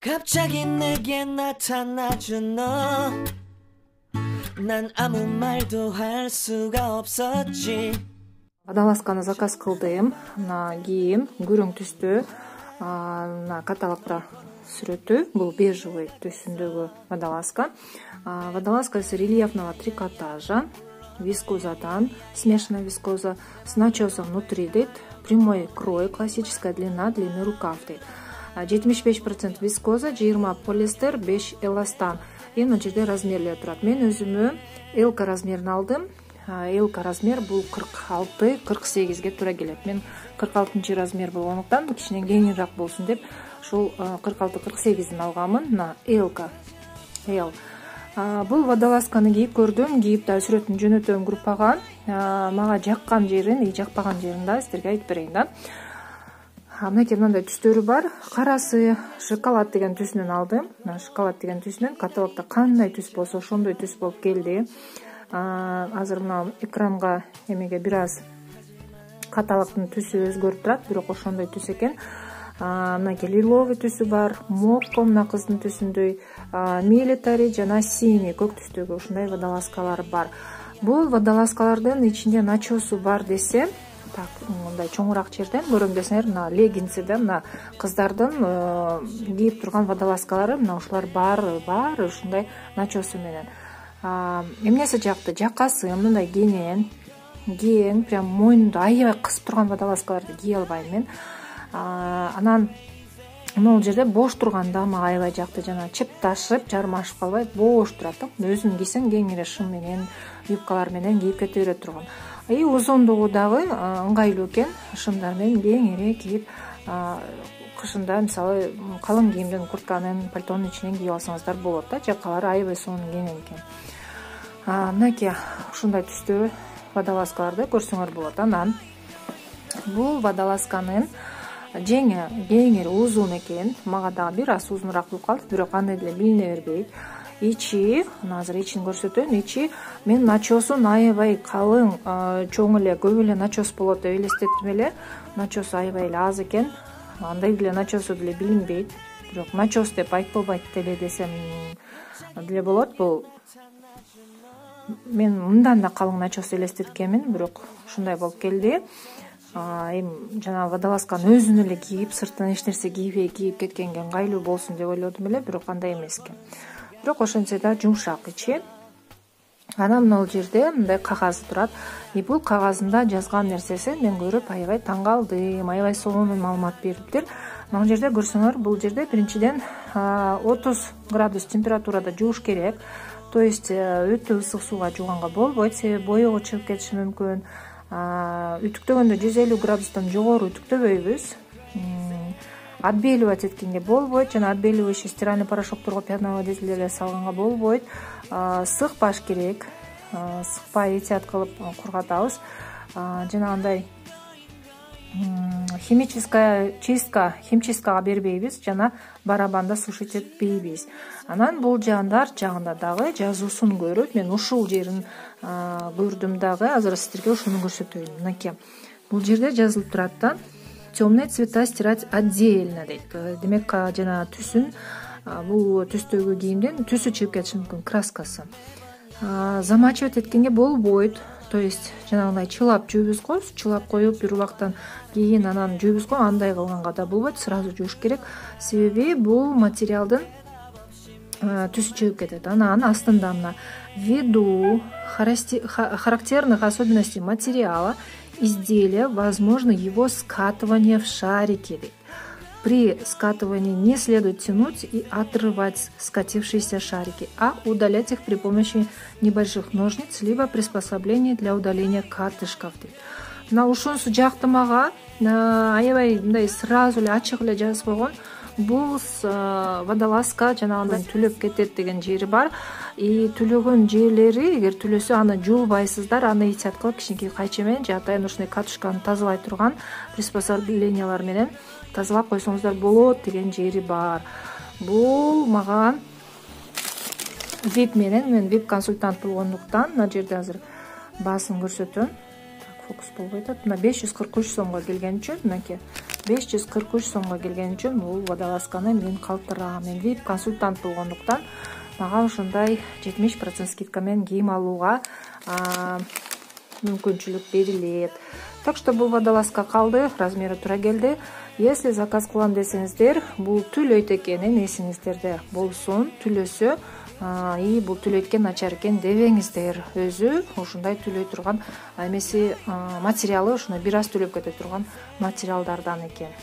갑자기 내게 나타나준 너, 난 아무 말도 할 수가 없었지. Водолазканы заказ кылдым. Мына кийим күрөң түстүү. Мына каталогдо сүрөтү. Бул бежевый түсүндөгү водолазка. Водолазка с рельефного трикотажа, вискозадан, смешанная вискоза с начесом внутри дейт. Прямой крой, классическая длина, длинный рукав дейт. 75% вискоза, 20 полиэстер, 5 эластан. Мына жерде размерлер турат. Мен өзүмө элка размерин алдым. Элка размер бул 46-48ге туура келет. Мен 46 размер болгондуктан кичине кеңирээк болсун деп ушул 46-48ден алганмын. Мына элка. Бул водолазканы кийип көрдүм. Кийип да сүрөтүн жөнөтөм группага. Мага жаккан жерин, жакпаган жерин да сиздерге айтып берейин да. Мынакей мындай түстөрү бар. Карасы шоколад деген түсүнөн алдым. Мына шоколад деген түсүнөн каталогдо кандай түс болсо ошондой түс болуп келди. Азыр мына экранга эмеге бир аз каталогдун түсү өзгөрүп турат, бирок ошондой түс экен. Мынакей лиловый түсү бар, мокко мына кыздын түсүндөй, милитари жана синий көк түстөгү ушундай водолазкалар бар. Бул водолазкалардын ичинде начосу бар десе, так мындай чоңураак жерден көрөм десеңер, мына леггинсиде мына кыздардын кийип турган водолазкалары мына ушулар бар ушундай начосу менен. Эмнеси жакты? Жакасы мындай кең, прям мойнунду аябай кысып турган водолазкаларды кие албайм мен. Анан могул жерде бош турганда мага аябай жакты, жана чыпташып, жармашып калбай бош турат. Өзүң кийсең кеңире шым менен, юбкалар менен кийип кете берет турган. Узундугу дагы ыңгайлуу экен, шымдар менен кеңире кийип, кышында мисалы калың кийимден, куртканын, пальтонун ичинен кийип алсаңыздар болот да, жакалары аябай сонун кеңең экен. Мынакей ушундай түстүү водолазкаларды көрсөңөр болот. Анан бул водолазканын жеңи кеңири узун экен. Мага дагы бир аз узунураак болуп калды, бирок андай деле билине бербейт. Ичи, азыр ичин көрсөтөйүн. Ичи мен начосун аябай калың, чоң эле, көп эле начос болот деп элестеттим эле. Начос аябай эле аз экен. Андай деле начосу деле билинбейт. Бирок начос деп айтпайт деле десем деле болот. Бул мен мындан да калың начос элестеткенмин, бирок ушундай болуп келди. Жана водолазканы өзүн эле кийип, сыртынан эч нерсе кийбей кийип кеткенге ыңгайлуу болсун деп ойлодум эле, бирок андай эмес экен. Бирок ошентсе да жумшак ичи. Анан могул жерде мындай кагазы турат. Бул кагазында жазган нерсесин мен көрүп аябай таң калдым, аябай сонун маалымат бериптир. Могул жерде көрсөңөр, бул жерде биринчиден 30 градус температурада жууш керек. То есть өтө ысык сууга жууганга болбойт, себеби боёгу чыгып кетиши мүмкүн. Үтүктөгөндө 150 градустан жогору үтүктөбөйбүз. Отбеливать эткенге болбойт, жана отбеливающий стиральный порошокторго, пятновыводитель салганга болбойт. Сыкпаш керек. Сыкпай этият кылып кургатабыз. Жана андай химическая чистка, химчисткага бербейбиз, жана барабанда сушить этпейбиз. Анан бул жагында дагы жазуусун көрүп, мен ушул жерин көрдүм дагы, азыр сиздерге ушуну көрсөтөйүн. Мынакей, бул жерде жазылып турат да, темные цвета стирать отдельно дейт. Демек, жана түсүн, бул түстөгү кийимдин түсү чыгып кетиши мүмкүн, краскасы. Замачивать эткенге болбойт. То есть жанагындай чылап жүүбүз го, чылап коюп бир убактан кийин анан жүүбүз го, андай кылганга да болбойт, сразу жууш керек. Себеби бул материалдын түсү чыгып кетет. Анан астында мына ввиду характерных особенностей материала изделия возможно его скатывание в шарики. При скатывании не следует тянуть и отрывать скатившиеся шарики, а удалять их при помощи небольших ножниц, либо приспособлений для удаления катышков. Мына ушунусу жакты мага, аябай мындай сразу эле ачык эле жазып койгон. Бул водолазка жанагындай түлөп кетет деген жери бар. Түлөгөн жерлери, эгер түлөсө аны жуубайсыздар, аны этият кылып кичинекей кайча менен же атайын ушундай катышканы тазалай турган приспособлениялар менен тазалап койсоңуздар болот деген жери бар. Бул мага VIP менен, мен VIP консультант болгондуктан мына жерде азыр баасын көрсөтөм. Фокус болбой атат. Мына 543 сомго келген үчүн, мынакей 543 сомго келген үчүн бул водолазканы мен калтырам. Мен VIP консультант болгондуктан мага ошондой 70% скидка менен кийим алууга мүмкүнчүлүк берилет. Так что бул водолазка калды, размери туура келди. Если заказ кылам десеңиздер, бул түлөйт экенин эсиңиздерде болсун. Түлөсө и бул түлөйткө начар экен дебеңиздер. Өзү ушундай түлөй турган эмеси материалы ошондой бир аз түлөп кете турган материалдардан экен.